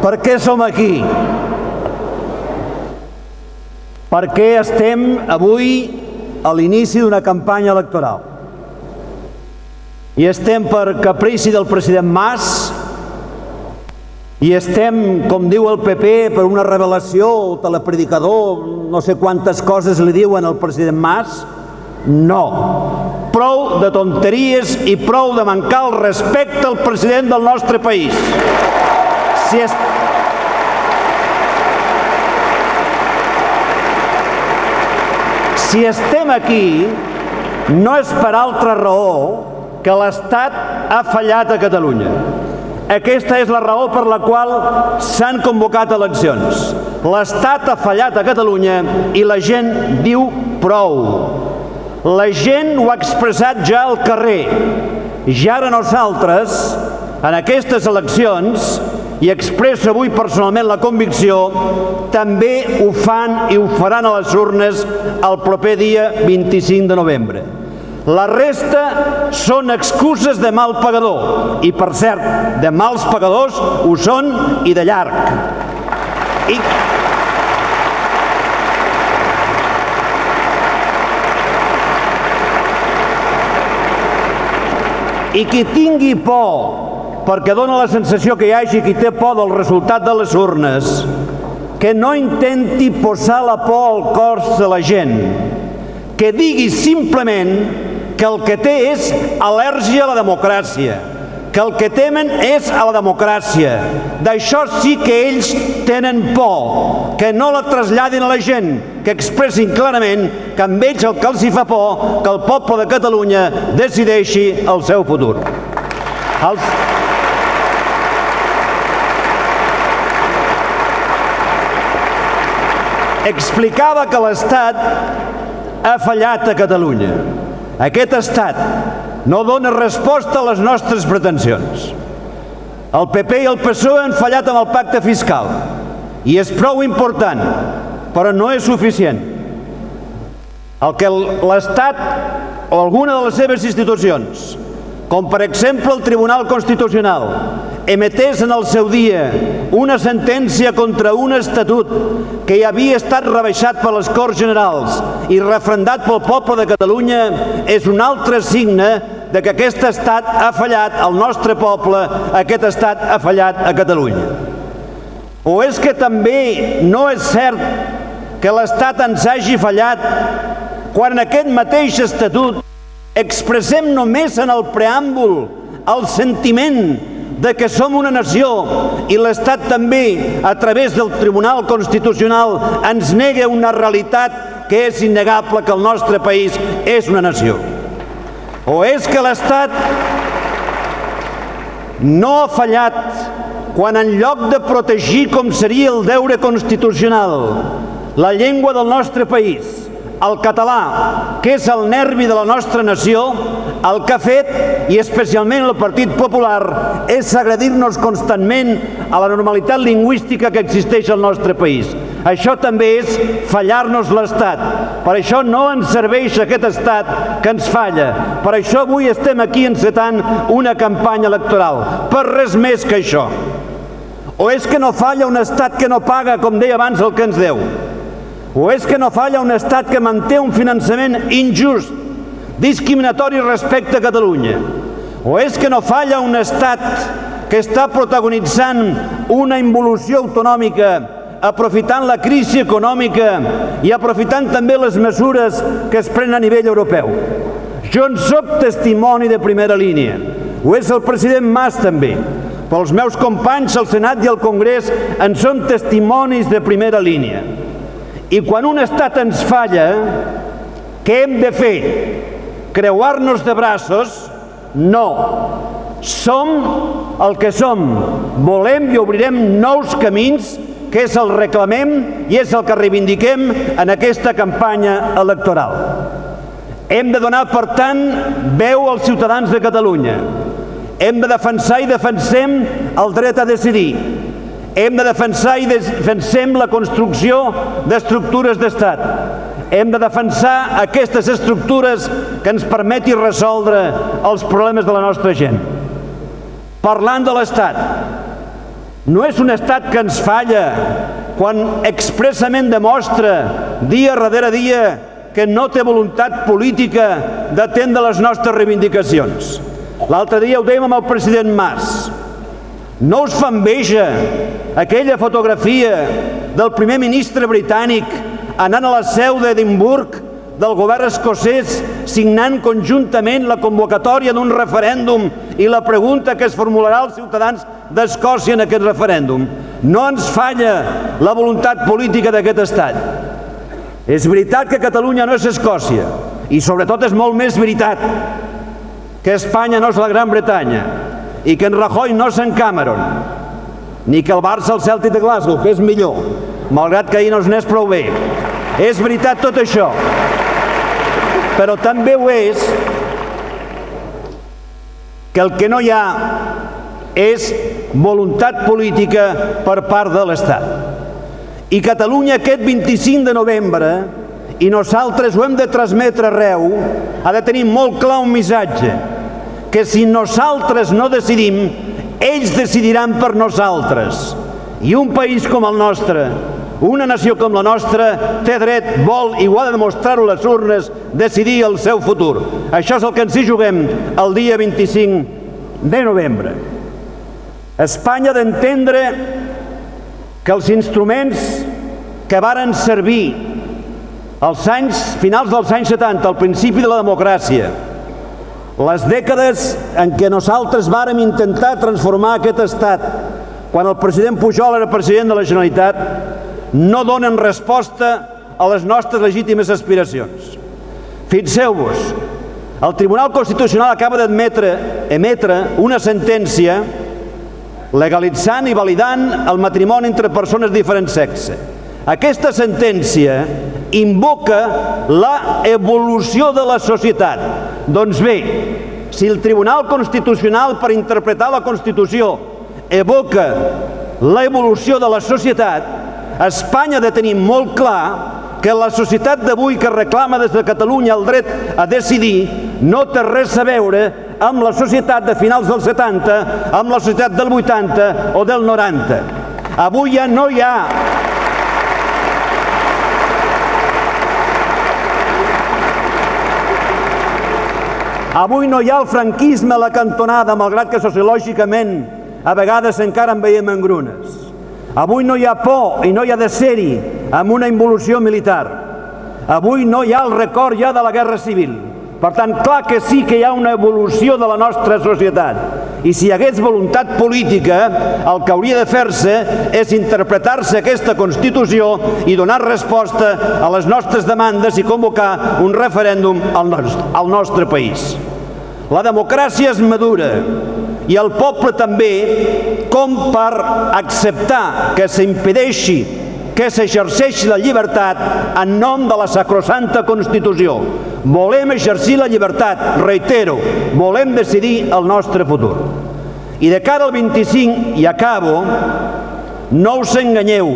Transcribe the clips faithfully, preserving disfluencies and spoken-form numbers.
Per què som aquí? Perquè estem avui a l'inici d'una campanya electoral. I estem per caprici del president Mas, i estem, com diu el P P, per una revelació o telepredicador, no sé quantes coses li diuen al president Mas. No. Prou de tonteries i prou de mancar el respecte al president del nostre país. Si és... Si estem aquí, no és per altra raó que l'Estat ha fallat a Catalunya. Aquesta és la raó per la qual s'han convocat eleccions. L'Estat ha fallat a Catalunya i la gent diu prou. La gent ho ha expressat ja al carrer. I ara nosaltres, en aquestes eleccions, i expresso avui personalment la convicció, també ho fan i ho faran a les urnes el proper dia vint-i-cinc de novembre. La resta són excuses de mal pagador. I, per cert, de mals pagadors ho són i de llarg. I... I qui tingui por, perquè dona la sensació que hi hagi qui té por del resultat de les urnes, que no intenti posar la por al cor de la gent, que digui simplement que el que té és al·lèrgia a la democràcia, que el que temen és a la democràcia. D'això sí que ells tenen por, que no la traslladin a la gent, que expressin clarament que amb ells el que els hi fa por que el poble de Catalunya decideixi el seu futur. Els... Explicava que l'Estat ha fallat a Catalunya. Aquest Estat no dona resposta a les nostres pretensions. El P P i el P S O E han fallat amb el pacte fiscal i és prou important, però no és suficient. El que l'Estat o alguna de les seves institucions, com per exemple el Tribunal Constitucional, emetés en el seu dia una sentència contra un estatut que ja havia estat rebaixat per les Corts Generals i refrendat pel poble de Catalunya, és un altre signe de que aquest estat ha fallat al nostre poble, aquest estat ha fallat a Catalunya. O és que també no és cert que l'estat ens hagi fallat quan en aquest mateix estatut expressem només en el preàmbul el sentiment de que som una nació i l'Estat també, a través del Tribunal Constitucional, ens nega una realitat que és innegable, que el nostre país és una nació. O és que l'Estat no ha fallat quan en lloc de protegir, com seria el deure constitucional, la llengua del nostre país, el català, que és el nervi de la nostra nació, el que ha fet, i especialment el Partit Popular, és agredir-nos constantment a la normalitat lingüística que existeix al nostre país. Això també és fallar-nos l'Estat. Per això no ens serveix aquest Estat que ens falla. Per això avui estem aquí encetant una campanya electoral. Per res més que això. O és que no falla un Estat que no paga, com deia abans, el que ens deu? O és que no falla un Estat que manté un finançament injust, discriminatori respecte a Catalunya? O és que no falla un Estat que està protagonitzant una involució autonòmica, aprofitant la crisi econòmica i aprofitant també les mesures que es prenen a nivell europeu? Jo en soc testimoni de primera línia. Ho és el president Mas també. Però els meus companys al Senat i al Congrés en són testimonis de primera línia. I quan un estat ens falla, què hem de fer? Creuar-nos de braços? No. Som el que som. Volem i obrirem nous camins, que és el reclamem i és el que reivindiquem en aquesta campanya electoral. Hem de donar, per tant, veu als ciutadans de Catalunya. Hem de defensar i defensem el dret a decidir. Hem de defensar i defensem la construcció d'estructures d'estat. Hem de defensar aquestes estructures que ens permeti resoldre els problemes de la nostra gent. Parlant de l'Estat, No és un estat que ens falla quan expressament demostra dia darrere dia que no té voluntat política d'atendre les nostres reivindicacions. L'altre dia ho dèiem amb el president Mas. No us fa enveja aquella fotografia del primer ministre britànic anant a la seu d'Edimburg del govern escocès signant conjuntament la convocatòria d'un referèndum i la pregunta que es formularà als ciutadans d'Escòcia en aquest referèndum? No ens falla la voluntat política d'aquest estat. És veritat que Catalunya no és Escòcia i sobretot és molt més veritat que Espanya no és la Gran Bretanya i que en Rajoy no és en Cameron ni que el Barça el Celtic de Glasgow, que és millor, malgrat que ahir no es n'és prou bé. És veritat tot això, però també ho és que el que no hi ha és voluntat política per part de l'Estat. I Catalunya aquest vint-i-cinc de novembre, i nosaltres ho hem de transmetre arreu, ha de tenir molt clar un missatge, que si nosaltres no decidim, ells decidiran per nosaltres. I un país com el nostre, una nació com la nostra, té dret, vol i ho ha de demostrar-ho a les urnes, decidir el seu futur. Això és el que ens hi juguem el dia vint-i-cinc de novembre. Espanya ha d'entendre que els instruments que varen servir als anys, finals dels anys setanta, al principi de la democràcia, les dècades en què nosaltres vàrem intentar transformar aquest estat, quan el president Pujol era president de la Generalitat, no donen resposta a les nostres legítimes aspiracions. Fixeu-vos, el Tribunal Constitucional acaba d'emetre emetre una sentència legalitzant i validant el matrimoni entre persones de diferent sexe. Aquesta sentència invoca la evolució de la societat. Doncs bé, si el Tribunal Constitucional, per interpretar la Constitució, evoca l'evolució de la societat, Espanya ha de tenir molt clar que la societat d'avui que reclama des de Catalunya el dret a decidir no té res a veure amb la societat de finals dels setanta, amb la societat del vuitanta o del noranta. Avui ja no hi ha Avui no hi ha el franquisme a la cantonada, malgrat que sociològicament a vegades encara en veiem engrunes. Avui no hi ha por i no hi ha de ser-hi amb una involució militar. Avui no hi ha el record ja de la Guerra Civil. Per tant, clar que sí que hi ha una evolució de la nostra societat. I si hi hagués voluntat política, el que hauria de fer-se és interpretar-se aquesta Constitució i donar resposta a les nostres demandes i convocar un referèndum al nostre país. La democràcia és madura i el poble també, com per acceptar que s'impedeixi que s'exerceixi la llibertat en nom de la sacrosanta Constitució. Volem exercir la llibertat, reitero, volem decidir el nostre futur. I de cara al vint-i-cinc, i acabo, no us enganyeu,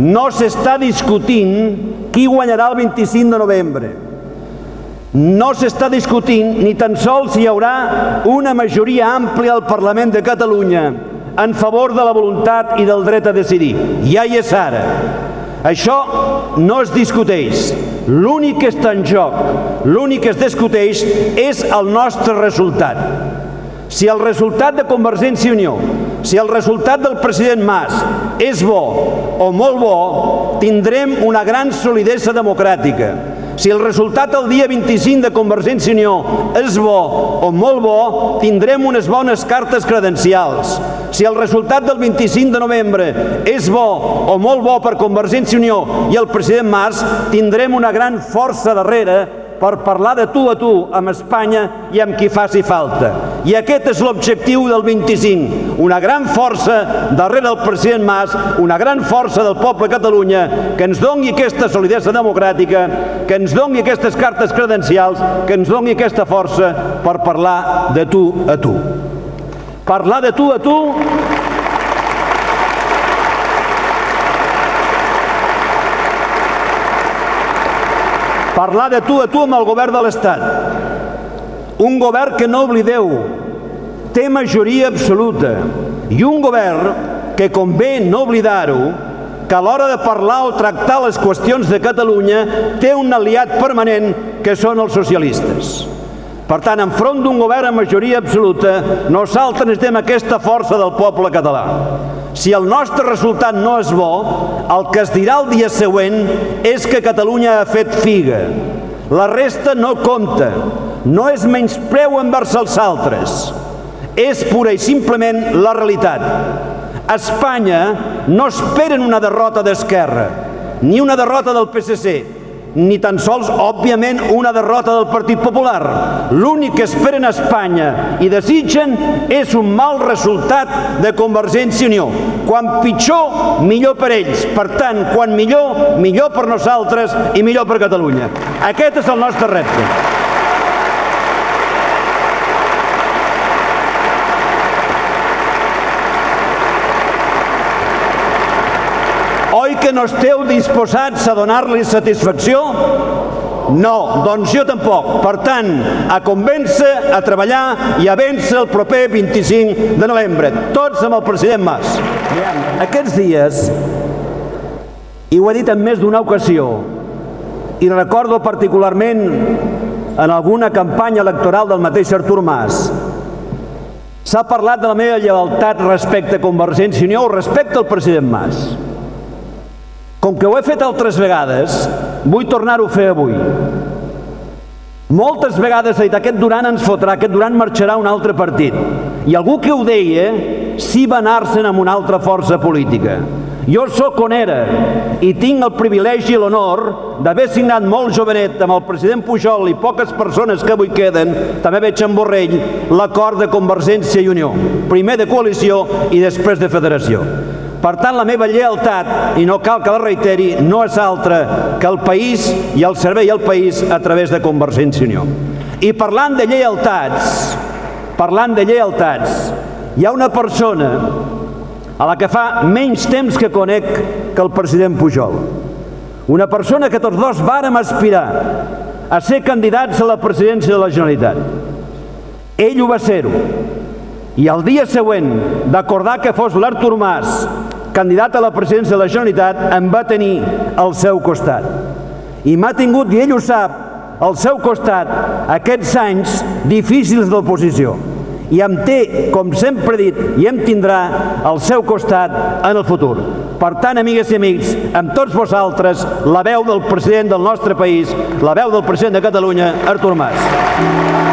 no s'està discutint qui guanyarà el vint-i-cinc de novembre. No s'està discutint ni tan sols si hi haurà una majoria àmplia al Parlament de Catalunya en favor de la voluntat i del dret a decidir. Ja hi és ara. Això no es discuteix. L'únic que està en joc, l'únic que es discuteix és el nostre resultat. Si el resultat de Convergència i Unió, si el resultat del president Mas és bo o molt bo, tindrem una gran solidesa democràtica. Si el resultat el dia vint-i-cinc de Convergència i Unió és bo o molt bo, tindrem unes bones cartes credencials. Si el resultat del vint-i-cinc de novembre és bo o molt bo per Convergència i Unió i el president Mas, tindrem una gran força darrere per parlar de tu a tu amb Espanya i amb qui faci falta. I aquest és l'objectiu del vint-i-cinc. Una gran força darrere del president Mas, una gran força del poble de Catalunya que ens doni aquesta solidesa democràtica, que ens doni aquestes cartes credencials, que ens doni aquesta força per parlar de tu a tu. Parlar de tu a tu Parlar de tu a tu amb el govern de l'Estat. Un govern que, no oblideu, té majoria absoluta i un govern que convé no oblidar-ho, que a l'hora de parlar o tractar les qüestions de Catalunya té un aliat permanent que són els socialistes. Per tant, enfront d'un govern amb majoria absoluta, nosaltres necessitem aquesta força del poble català. Si el nostre resultat no és bo, el que es dirà el dia següent és que Catalunya ha fet figa. La resta no compta, no és menyspreu envers els altres, és pura i simplement la realitat. A Espanya no esperen una derrota d'Esquerra, ni una derrota del P S C, ni tan sols, òbviament, una derrota del Partit Popular. L'únic que esperen a Espanya i desitgen és un mal resultat de Convergència i Unió. Quan pitjor, millor per ells. Per tant, quan millor, millor per nosaltres i millor per Catalunya. Aquest és el nostre repte. Oi que no esteu disposats a donar-li satisfacció? No, doncs jo tampoc. Per tant, a convèncer, a treballar i a vèncer el proper vint-i-cinc de novembre. Tots amb el president Mas. Aquests dies, i ho he dit en més d'una ocasió, i recordo particularment en alguna campanya electoral del mateix Artur Mas, s'ha parlat de la meva lleialtat respecte a Convergència i Unió o respecte al president Mas. Com que ho he fet altres vegades, vull tornar-ho a fer avui. Moltes vegades he dit, aquest Duran ens fotrà, aquest Duran marxarà a un altre partit. I algú que ho deia, sí va anar-se'n amb una altra força política. Jo sóc on era i tinc el privilegi i l'honor d'haver signat molt jovenet amb el president Pujol i poques persones que avui queden, també veig en Borrell, l'acord de Convergència i Unió. Primer de coalició i després de federació. Per tant, la meva lleialtat, i no cal que la reiteri, no és altra que el país i el servei al país a través de Convergència i Unió. I parlant de lleialtats, parlant de lleialtats, hi ha una persona a la que fa menys temps que conec que el president Pujol. Una persona que tots dos vàrem aspirar a ser candidats a la presidència de la Generalitat. Ell ho va ser-ho. I el dia següent d'acordar que fos l'Artur Mas candidat a la presidència de la Generalitat, em va tenir al seu costat. I m'ha tingut, i ell ho sap, al seu costat aquests anys difícils d'oposició. I em té, com sempre he dit, i em tindrà al seu costat en el futur. Per tant, amigues i amics, amb tots vosaltres, la veu del president del nostre país, la veu del president de Catalunya, Artur Mas.